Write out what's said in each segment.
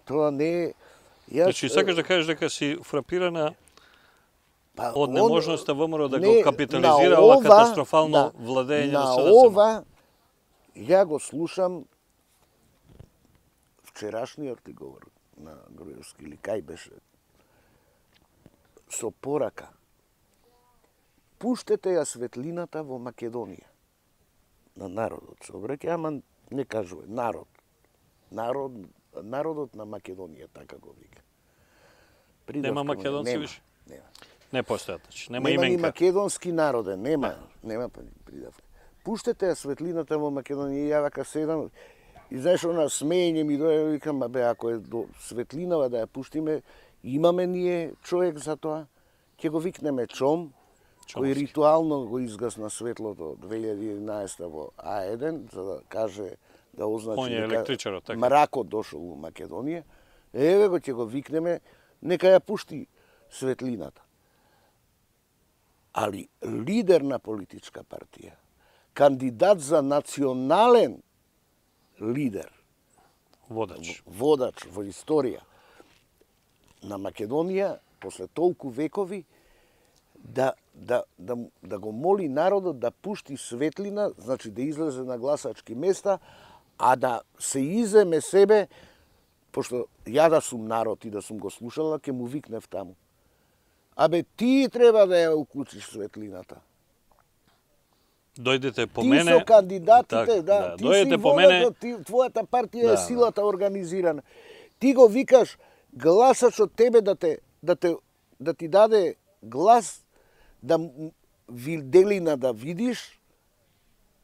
Тоа не е... Значи, сакаш да кажеш дека си фрапирана од неможноста ВМРО да го капитализира ова катастрофално владење на СДСМ? На ова, ја го слушам вчерашниот ти говор на Груевски, или кај беше, со порака. Пуштете ја светлината во Македонија. На народот се обраќа, ама не кажува народ. Народот на Македонија, така го вика. Нема македонци више? Нема. Не постојат, нема именка. Нема ни македонски народе, нема придавка. Пуштете ја светлината во Македонија, ја вака седам, и знаеш, она смеење ми дојде, викам, бе, ако е до светлинава да ја пуштиме, имаме ние човек за тоа, ќе го викнеме Чом, кој ритуално го изгасна светлото 2011 во А1, за да каже, да означи дека мракот дошол во Македонија. Еве го ќе го викнеме, нека ја пушти светлината. Али лидер на политичка партија, кандидат за национален лидер, водач во историја на Македонија, после толку векови, да го моли народот да пушти светлина, значи да излезе на гласачки места, а да се иземе себе, пошто ја да сум народ и да сум го слушала, ќе му викнев таму. Абе, ти треба да ја уклучиш светлината. Дојдете по мене. Ти со кандидатите, ти дојдете си по мене. Твојата партија е силата организирана. Ти го викаш гласачот тебе да ти даде глас, да виделина да видиш,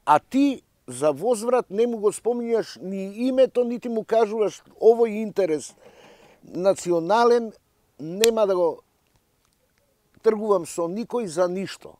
а ти за возврат не му го спомнјаш ни името, нити му кажуваш овој интерес национален, нема да го тргувам со никој за ништо.